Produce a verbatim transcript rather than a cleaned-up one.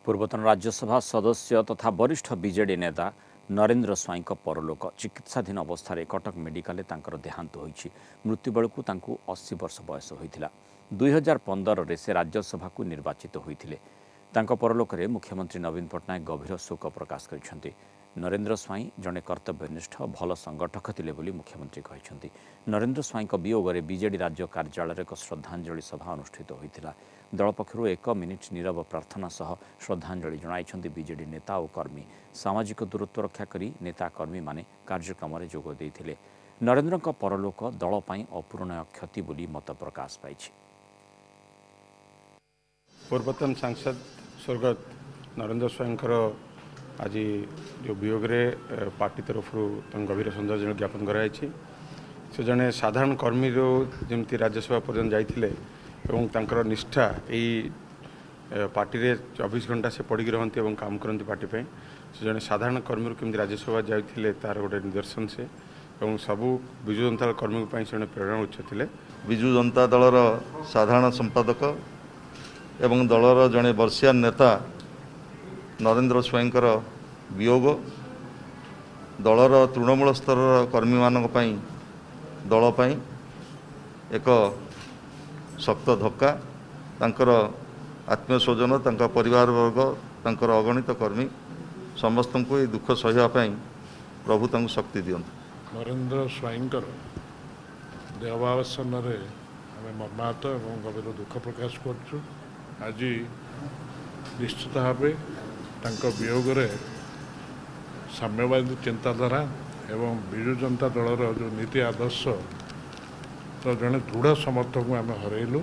ପୂର୍ବତନ ରାଜ୍ୟସଭା ସଦସ୍ୟ ତଥା ବରିଷ୍ଠ ବିଜେଡି ନେତା ନରେନ୍ଦ୍ର ସ୍ୱାଇଁଙ୍କ ପରଲୋକ। ଚିକିତ୍ସାଧୀନ ଅବସ୍ଥାରେ କଟକ ମେଡିକାଲରେ ତାଙ୍କର ଦେହାନ୍ତ ହୋଇଛି। ମୃତ୍ୟୁ ବେଳକୁ ତାଙ୍କୁ ଅଶୀ ବର୍ଷ ବୟସ ହୋଇଥିଲା। ଦୁଇ ହଜାର ପନ୍ଦରରେ ସେ ରାଜ୍ୟସଭାକୁ ନିର୍ବାଚିତ ହୋଇଥିଲେ। ତାଙ୍କ ପରଲୋକରେ ମୁଖ୍ୟମନ୍ତ୍ରୀ ନବୀନ ପଟ୍ଟନାୟକ ଗଭୀର ଶୋକ ପ୍ରକାଶ କରିଛନ୍ତି। ନରେନ୍ଦ୍ର ସ୍ୱାଇଁ ଜଣେ କର୍ତ୍ତବ୍ୟନିଷ୍ଠ ଭଲ ସଂଗଠକ ଥିଲେ ବୋଲି ମୁଖ୍ୟମନ୍ତ୍ରୀ କହିଛନ୍ତି। ନରେନ୍ଦ୍ର ସ୍ୱାଇଁଙ୍କ ବିୟୋଗରେ ବିଜେଡି ରାଜ୍ୟ କାର୍ଯ୍ୟାଳୟରେ ଏକ ଶ୍ରଦ୍ଧାଞ୍ଜଳି ସଭା ଅନୁଷ୍ଠିତ ହୋଇଥିଲା। ଦଳ ପକ୍ଷରୁ ଏକ ମିନିଟ୍ ନୀରବ ପ୍ରାର୍ଥନା ସହ ଶ୍ରଦ୍ଧାଞ୍ଜଳି ଜଣାଇଛନ୍ତି ବିଜେଡି ନେତା ଓ କର୍ମୀ। ସାମାଜିକ ଦୂରତ୍ୱ ରକ୍ଷା କରି ନେତା କର୍ମୀମାନେ କାର୍ଯ୍ୟକ୍ରମରେ ଯୋଗ ଦେଇଥିଲେ। ନରେନ୍ଦ୍ରଙ୍କ ପରଲୋକ ଦଳ ପାଇଁ ଅପୂରଣୀୟ କ୍ଷତି ବୋଲି ମତ ପ୍ରକାଶ ପାଇଛି। ପୂର୍ବତନ ସାଂସଦ ସ୍ୱର୍ଗତ ନରେନ୍ଦ୍ର ସ୍ୱାଇଁଙ୍କର ଆଜି ଯେଉଁ ବିୟୋଗରେ ପାର୍ଟି ତରଫରୁ ତାଙ୍କୁ ଗଭୀର ଶ୍ରଦ୍ଧାଞ୍ଜଳି ଜ୍ଞାପନ କରାଯାଇଛି। ସେ ଜଣେ ସାଧାରଣ କର୍ମୀରୁ ଯେମିତି ରାଜ୍ୟସଭା ପର୍ଯ୍ୟନ୍ତ ଯାଇଥିଲେ ଏବଂ ତାଙ୍କର ନିଷ୍ଠା ଏଇ ପାର୍ଟିରେ ଚବିଶ ଘଣ୍ଟା ସେ ପଡ଼ିକି ରହନ୍ତି ଏବଂ କାମ କରନ୍ତି ପାର୍ଟି ପାଇଁ। ସେ ଜଣେ ସାଧାରଣ କର୍ମୀରୁ କେମିତି ରାଜ୍ୟସଭା ଯାଇଥିଲେ ତାର ଗୋଟେ ନିଦର୍ଶନ ସେ, ଏବଂ ସବୁ ବିଜୁ ଜନତା ଦଳ କର୍ମୀଙ୍କ ପାଇଁ ସେ ଜଣେ ପ୍ରେରଣା ଉତ୍ସ ଥିଲେ। ବିଜୁ ଜନତା ଦଳର ସାଧାରଣ ସମ୍ପାଦକ ଏବଂ ଦଳର ଜଣେ ବର୍ଷିୟାନ ନେତା ନରେନ୍ଦ୍ର ସ୍ୱାଇଁଙ୍କର ବିୟୋଗ ଦଳର ତୃଣମୂଳ ସ୍ତରର କର୍ମୀମାନଙ୍କ ପାଇଁ, ଦଳ ପାଇଁ ଏକ ଶକ୍ତ ଧକ୍କା। ତାଙ୍କର ଆତ୍ମୀୟ ସ୍ୱଜନ, ତାଙ୍କ ପରିବାରବର୍ଗ, ତାଙ୍କର ଅଗଣିତ କର୍ମୀ ସମସ୍ତଙ୍କୁ ଏହି ଦୁଃଖ ସହିବା ପାଇଁ ପ୍ରଭୁ ତାଙ୍କୁ ଶକ୍ତି ଦିଅନ୍ତୁ। ନରେନ୍ଦ୍ର ସ୍ୱାଇଁଙ୍କର ଦେହଭାବାସନରେ ଆମେ ମର୍ମାହତ ଏବଂ ଗଭୀର ଦୁଃଖ ପ୍ରକାଶ କରୁଛୁ। ଆଜି ନିଶ୍ଚିତ ଭାବେ ତାଙ୍କ ବିୟୋଗରେ ସାମ୍ୟବାଦୀ ଚିନ୍ତାଧାରା ଏବଂ ବିଜୁ ଜନତା ଦଳର ଯେଉଁ ନୀତି ଆଦର୍ଶର ଜଣେ ଦୃଢ଼ ସମର୍ଥକଙ୍କୁ ଆମେ ହରାଇଲୁ।